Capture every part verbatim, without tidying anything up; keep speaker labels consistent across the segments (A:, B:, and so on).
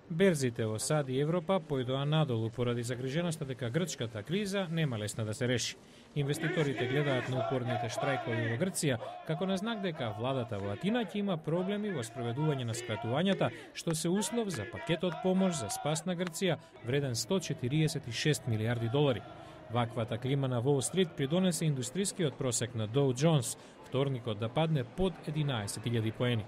A: Берзите во САД и Европа појдоа надолу поради загриженоста дека грчката криза нема лесно да се реши. Инвеститорите гледаат на упорните штрајкови во Грција како на знак дека владата во Атина ќе има проблеми во спроведување на скратувањата, што се услов за пакетот помош за спас на Грција вреден сто четириесет и шест милијарди долари. Ваквата клима на Wall Street придонесе индустрискиот просек на Dow Jones вторникот да падне под единаесет илјади поени.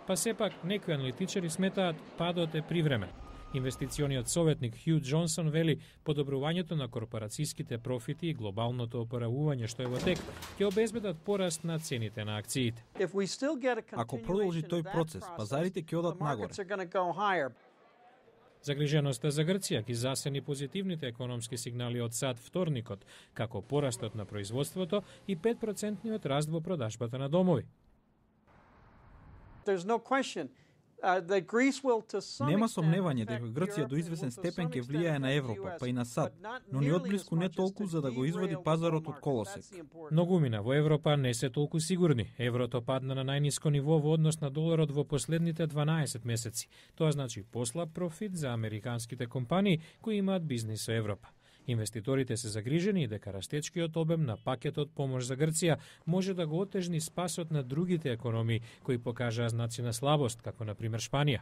A: Па сепак, некои аналитичари сметаат падот е привремен. Инвестициониот советник Хју Џонсон вели подобрувањето на корпорацијските профити и глобалното опоравување што е во тек ќе обезбедат пораст на цените на акциите.
B: Ако продолжи тој процес, пазарите ќе одат нагоре.
A: Загриженоста за Грција ги засени позитивните економски сигнали од САД вторникот, како порастот на производството и пет процентниот раст во продажбата на домови.
B: Нема сомневање дека Грција до известен степен ќе влијае на Европа, па и на САД, но ни одблиску не толку за да го извади пазарот од колосек.
A: Многумина во Европа не се толку сигурни. Еврото падна на најниско ниво во однос на доларот во последните дванаесет месеци. Тоа значи послаб профит за американските компании кои имаат бизнис со Европа. Инвеститорите се загрижени дека растечкиот обем на пакетот помош за Грција може да го отежни спасот на другите економии кои покажаа знаци на слабост, како на пример Шпанија.